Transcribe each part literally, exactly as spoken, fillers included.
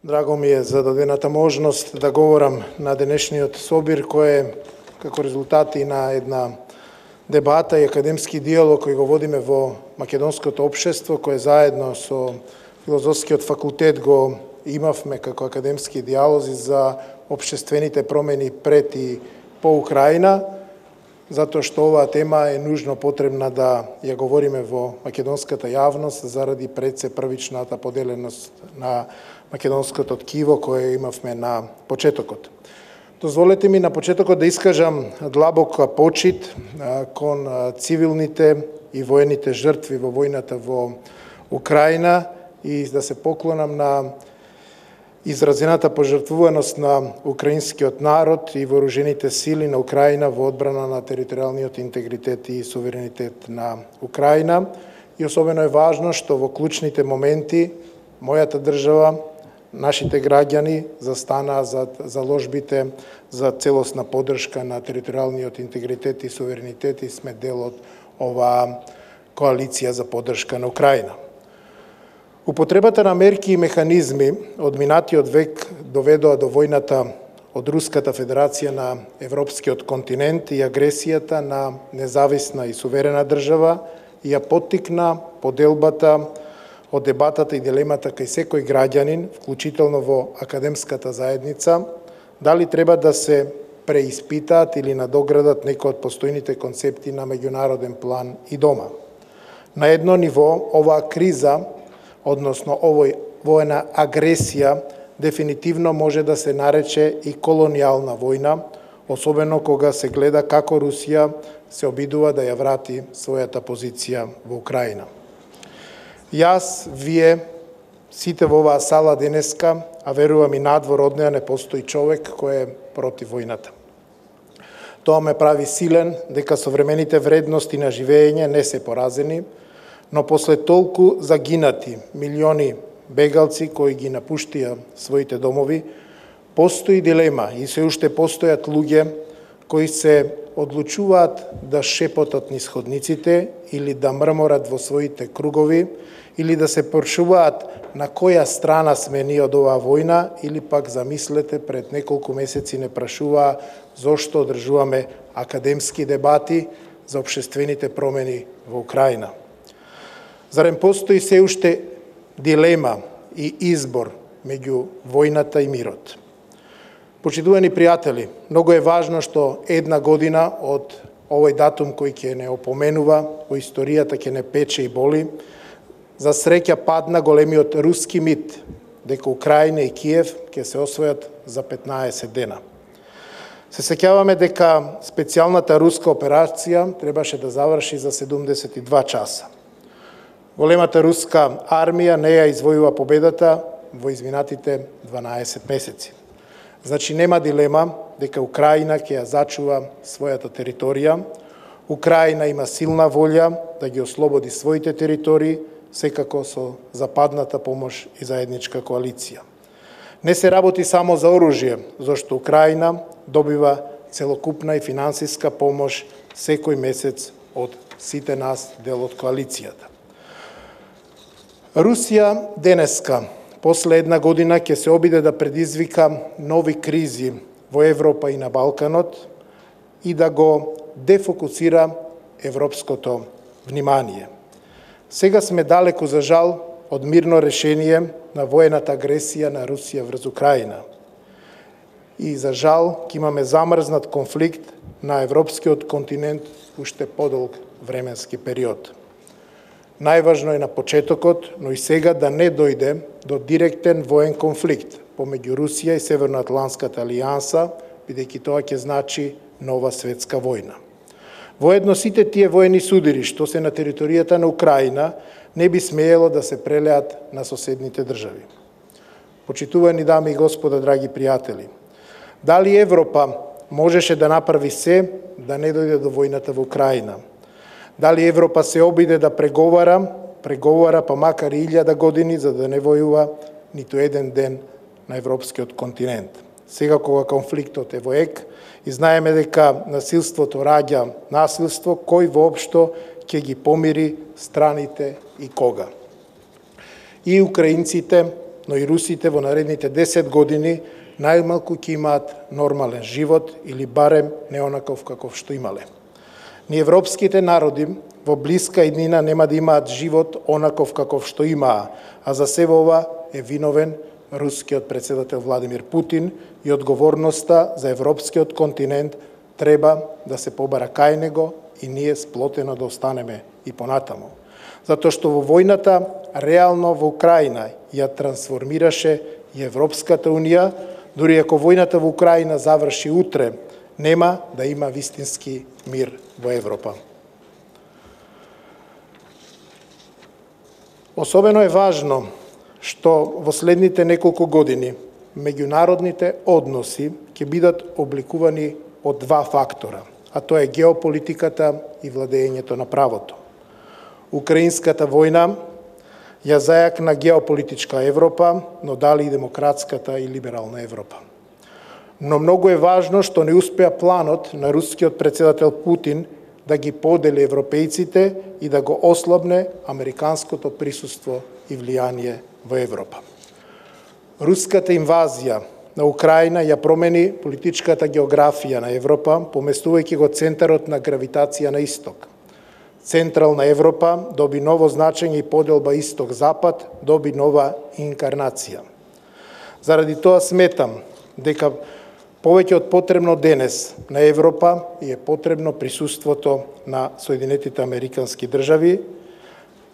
Драго ми е за дадената можност да говорам на денешниот собир, кој е како резултати на една дебата и академски диалог кој го водиме во македонското општество, кој заедно со Филозофскиот факултет го имавме како академски диалози за општествените промени пред и по Украина, затоа што оваа тема е нужно потребна да ја говориме во македонската јавност заради пред се првичната поделеност на македонското ткиво кое имавме на почетокот. Дозволете ми на почетокот да искажам длабока почит кон цивилните и воените жртви во војната во Украина и да се поклонам на изразената пожртвуваност на украинскиот народ и вооружените сили на Украина во одбрана на територијалниот интегритет и суверенитет на Украина. И особено е важно што во клучните моменти мојата држава, нашите граѓани застанаа за заложбите за целосна поддршка на територијалниот интегритет и суверенитет и сме дел од оваа коалиција за поддршка на Украина. Употребата на мерки и механизми од минатиот век доведоа до војната од Руската Федерација на европскиот континент и агресијата на независна и суверена држава и ја поттикна поделбата од дебатата и дилемата кај секој граѓанин, вклучително во академската заедница, дали треба да се преиспитаат или надоградат некои од постојните концепти на меѓународен план и дома. На едно ниво, оваа криза, односно овој воена агресија, дефинитивно може да се нарече и колонијална војна, особено кога се гледа како Русија се обидува да ја врати својата позиција во Украина. Јас, вие, сите во оваа сала денеска, а верувам и надвор од неа не постои човек кој е против војната. Тоа ме прави силен дека современите вредности на живење не се поразени, но после толку загинати милиони бегалци кои ги напуштија своите домови, постои дилема и се уште постојат луѓе кои се одлучуваат да шепотат низ ходниците или да мрморат во своите кругови или да се прашуваат на која страна сме ние од оваа војна или пак замислете пред неколку месеци не прашуваа зошто одржуваме академски дебати за општествените промени во Украина. Зарем постои се уште дилема и избор меѓу војната и мирот? Почитувани пријатели, многу е важно што една година од овој датум кој ќе не опоменува, во историјата ќе не пече и боли, за среќа падна големиот руски мит дека Украина и Киев ќе се освојат за петнаесет дена. Се сеќаваме дека специјалната руска операција требаше да заврши за седумдесет и два часа. Големата руска армија не ја извојува победата во изминатите дванаесет месеци. Значи нема дилема дека Украина ќе ја зачува својата територија. Украина има силна волја да ги ослободи своите територии, секако со западната помош и заедничка коалиција. Не се работи само за оружје, зашто Украина добива целокупна и финансиска помош секој месец од сите нас дел од коалицијата. Русија денеска, после една година, ќе се обиде да предизвика нови кризи во Европа и на Балканот и да го дефокусира европското внимание. Сега сме далеку, за жал, од мирно решение на воената агресија на Русија врз Украина. И за жал, ќе имаме замрзнат конфликт на европскиот континент уште подолг временски период. Најважно е на почетокот, но и сега да не дојде до директен воен конфликт помеѓу Русија и Северноатлантската алијанса, бидејќи тоа ќе значи нова светска војна. Воедно сите тие воени судири што се на територијата на Украина не би смеело да се прелеат на соседните држави. Почитувани дами и господа, драги пријатели, дали Европа можеше да направи се да не дојде до војната во Украина? Дали Европа се обиде да преговара, преговара па макар и илјада години за да не војува ниту еден ден на европскиот континент? Сега кога конфликтот е во ек и знаеме дека насилството раѓа насилство, кој воопшто ќе ги помири страните и кога? И украинците но и русите во наредните десет години најмалку ќе имаат нормален живот или барем не онаков каков што имале. Ни европските народи во блиска иднина нема да имаат живот онаков каков што имаа, а за се ова е виновен рускиот председател Владимир Путин и одговорноста за европскиот континент треба да се побара кај него и ние сплотено да останеме и понатаму. Затоа што во војната реално во Украина ја трансформираше и Европската Унија, дури ако војната во Украина заврши утре, нема да има вистински мир во Европа. Особено е важно што во следните неколку години меѓународните односи ќе бидат обликувани од два фактора, а тоа е геополитиката и владењето на правото. Украинската војна ја зајакна геополитичка Европа, но дали и демократската и либерална Европа. Но многу е важно што не успеа планот на рускиот председател Путин да ги подели европејците и да го ослабне американското присуство и влијание во Европа. Руската инвазија на Украина ја промени политичката географија на Европа, поместувајќи го центарот на гравитација на исток. Централна Европа доби ново значење и поделба исток-запад доби нова инкарнација. Заради тоа сметам дека повеќе од потребно денес на Европа и е потребно присуството на Соединетите Американски држави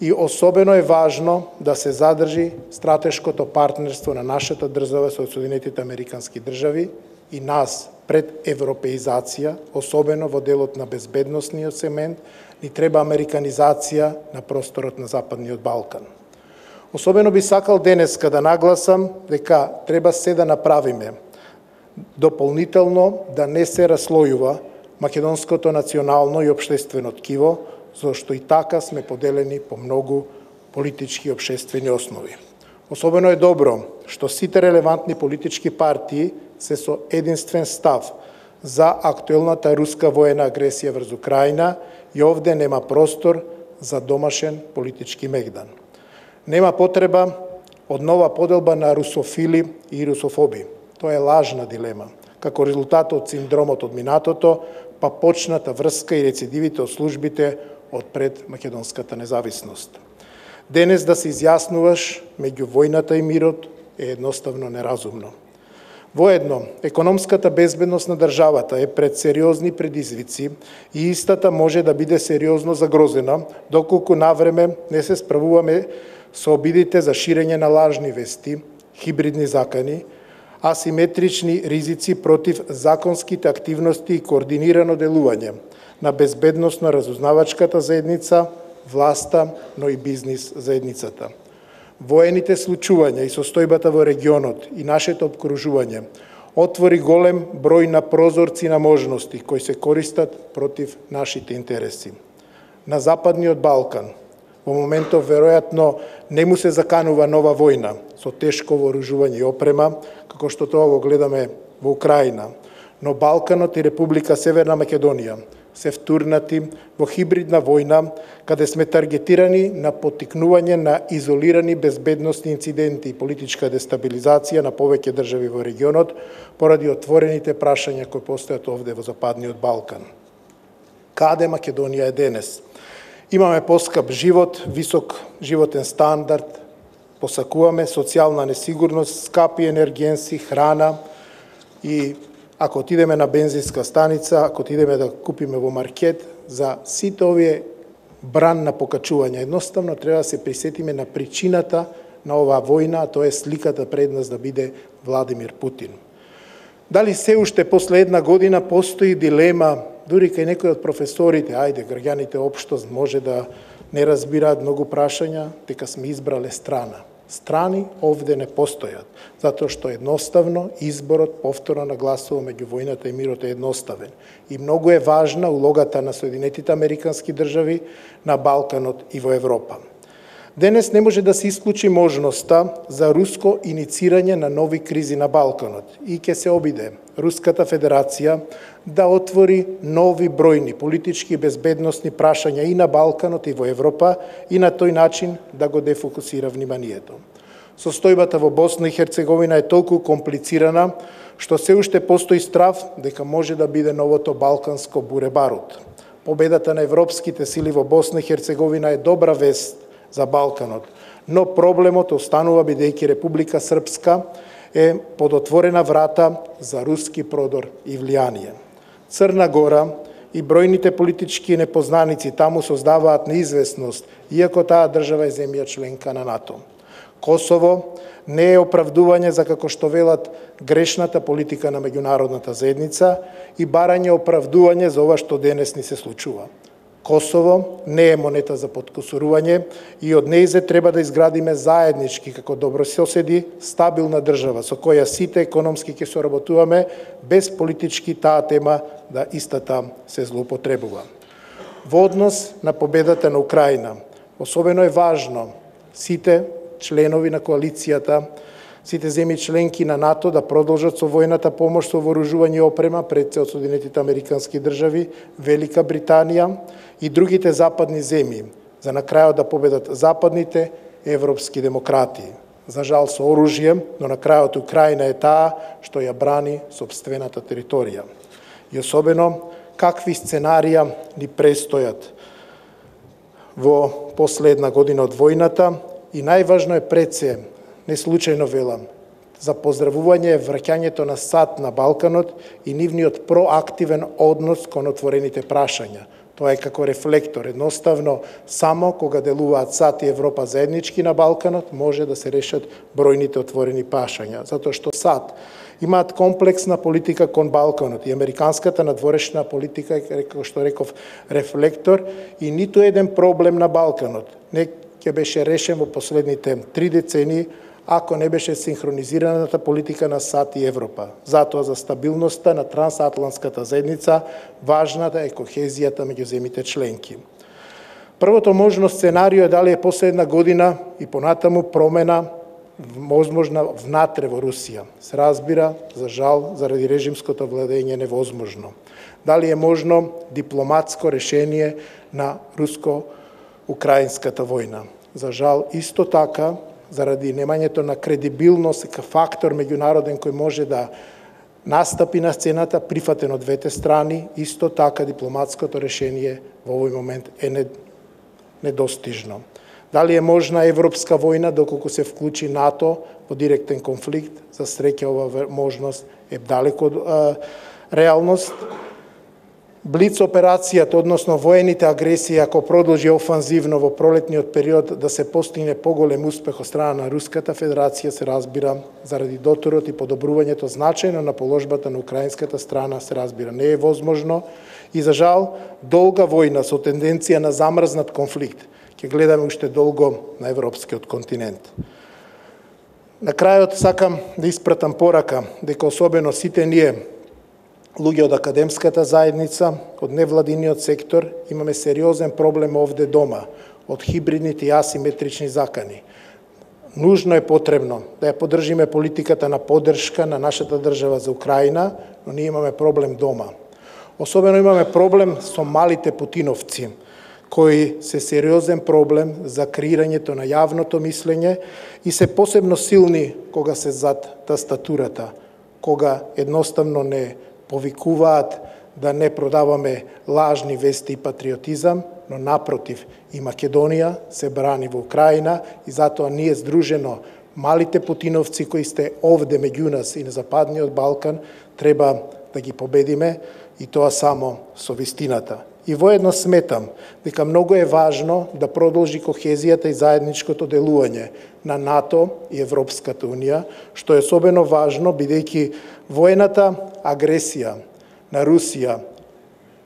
и особено е важно да се задржи стратешкото партнерство на нашата држава со Соединетите Американски држави и нас пред европеизација, особено во делот на безбедносниот сегмент, ни треба американизација на просторот на Западниот Балкан. Особено би сакал денеска да нагласам дека треба се да направиме дополнително да не се раслојува македонското национално и општествено ткиво, зашто и така сме поделени по многу политички и општествени основи. Особено е добро што сите релевантни политички партии се со единствен став за актуелната руска воена агресија врз Украина и овде нема простор за домашен политички мегдан. Нема потреба од нова поделба на русофили и русофоби. Тоа е лажна дилема. Како резултат од синдромот од минатото, па почната врска и рецидивите од службите од пред македонската независност. Денес да се изјаснуваш меѓу војната и мирот е едноставно неразумно. Воедно, економската безбедност на државата е пред сериозни предизвици и истата може да биде сериозно загрозена, доколку навреме не се справуваме со обидите за ширење на лажни вести, хибридни закани, асиметрични ризици против законските активности и координирано делување на безбедносно разузнавачката заедница, власта, но и бизнис заедницата. Воените случувања и состојбата во регионот и нашето обкружување отвори голем број на прозорци на можности кои се користат против нашите интереси. На Западниот Балкан во моментов веројатно не му се заканува нова војна со тешко вооружување и опрема, како што тоа го гледаме во Украина, но Балканот и Република Северна Македонија се втурнати во хибридна војна, каде сме таргетирани на поттикнување на изолирани безбедносни инциденти и политичка дестабилизација на повеќе држави во регионот, поради отворените прашања кои постојат овде во Западниот Балкан. Каде Македонија е денес? Имаме поскап живот, висок животен стандард, посакуваме социјална несигурност, скапи енергенси, храна и ако отидеме на бензинска станица, ако отидеме да купиме во маркет, за сите овие бран на покачување, едноставно треба да се присетиме на причината на оваа војна, а тоа е сликата пред нас да биде Владимир Путин. Дали се уште после една година постои дилема, дури кај некои од професорите, ајде, граѓаните општост може да не разбираат многу прашања, дека сме избрале страна. Страни овде не постојат, затоа што едноставно изборот, повторно нагласувам, меѓу војната и мирот е едноставен. И многу е важна улогата на Соединетите Американски држави на Балканот и во Европа. Денес не може да се исклучи можноста за руско иницирање на нови кризи на Балканот и ќе се обиде Руската Федерација да отвори нови бројни политички и безбедносни прашања и на Балканот и во Европа и на тој начин да го дефокусира вниманието. Состојбата во Босна и Херцеговина е толку комплицирана, што се уште постои страв дека може да биде новото балканско буре-барут. Победата на европските сили во Босна и Херцеговина е добра вест за Балканот, но проблемот останува бидејќи Република Српска е под отворена врата за руски продор и влијание. Црна Гора и бројните политички непознаници таму создаваат неизвестност, иако таа држава е земја членка на НАТО. Косово не е оправдување за, како што велат, грешната политика на меѓународната заедница и барање оправдување за ова што денес ни се случува. Косово не е монета за подкусурување и од нејзе треба да изградиме заеднички како добрососеди стабилна држава со која сите економски ќе соработуваме без политички таа тема да истата се злоупотребува. Во однос на победата на Украина, особено е важно сите членови на коалицијата, сите земји членки на НАТО да продолжат со војната помош со вооружување и опрема пред се од Соединетите американски држави, Велика Британија и другите западни земји, за на крајот да победат западните европски демократи. За жал со оружје, но на крајот Украина е таа што ја брани сопствената територија. И особено, какви сценарија ни престојат во последна година од војната и најважно е пред се, не случајно велам, за поздравување е враќањето на САД на Балканот и нивниот проактивен однос кон отворените прашања. Тоа е како рефлектор. Едноставно, само кога делуваат САД и Европа заеднички на Балканот, може да се решат бројните отворени прашања. Затоа што САД имаат комплексна политика кон Балканот и американската надворешна политика е, како што реков, рефлектор и ниту еден проблем на Балканот не ќе беше решен во последните три децении ако не беше синхронизираната политика на САД и Европа. Затоа за стабилноста на трансатлантската заедница важната е кохезијата меѓу земите членки. Првото можно сценарио е дали е последна година и понатаму промена возможна внатре во Русија. Се разбира, за жал, заради режимското владење невозможно. Дали е можно дипломатско решение на руско-украинската војна. За жал, исто така, заради немањето на кредибилност како фактор меѓународен кој може да настапи на сцената, прифатен од двете страни, исто така дипломатското решение во овој момент е недостижно. Дали е можна европска војна доколку се вклучи НАТО во директен конфликт? За среќа ова можност е далеко од а, реалност. Блиц операцијата, односно воените агресии, ако продолжи офанзивно во пролетниот период да се постигне поголем успех од страна на Руската Федерација, се разбира, заради доторот и подобрувањето значајно на положбата на украинската страна, се разбира, не е возможно и за жал долга војна со тенденција на замрзнат конфликт ќе гледаме уште долго на европскиот континент. На крајот сакам да испратам порака дека особено сите ние луѓе од академската заедница, од невладиниот сектор, имаме сериозен проблем овде дома, од хибридните и асиметрични закани. Нужно е потребно да ја поддржиме политиката на поддршка на нашата држава за Украина, но ние имаме проблем дома. Особено имаме проблем со малите путиновци, кои се сериозен проблем за креирањето на јавното мислење и се посебно силни кога се зад тастатурата, кога едноставно не повикуваат да не продаваме лажни вести и патриотизам, но напротив, и Македонија се брани во Украина и затоа ние здружено, малите путиновци кои сте овде меѓу нас и на Западниот Балкан, треба да ги победиме и тоа само со вистината. И воедно сметам дека многу е важно да продолжи кохезијата и заедничкото делување на НАТО и Европската Унија, што е особено важно бидејќи воената агресија на Русија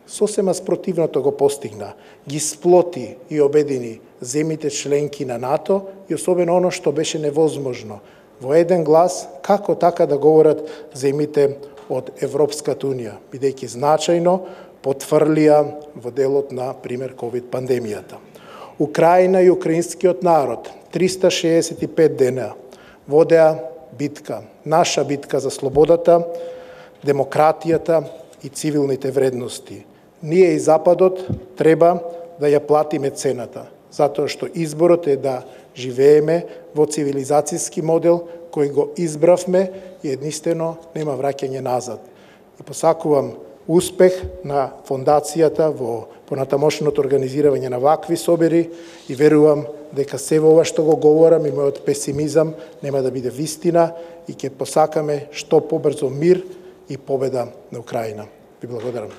сосема спротивното го постигна, ги сплоти и обедини земите членки на НАТО и особено оно што беше невозможно. Во еден глас, како така да говорат земите од Европската Унија, бидејќи значајно потврлија во делот на, пример, ковид пандемијата. Украина и украинскиот народ триста шеесет и пет дена водеа битка, наша битка за слободата, демократијата и цивилните вредности. Ние и Западот треба да ја платиме цената. затоа што изборот е да живееме во цивилизацијски модел кој го избравме и единствено нема враќање назад. И посакувам успех на фондацијата во понатамошното организирање на вакви собери и верувам дека се ова што го говорам и мојот песимизам нема да биде вистина и ќе посакаме што побрзо мир и победа на Украина. Ви благодарам.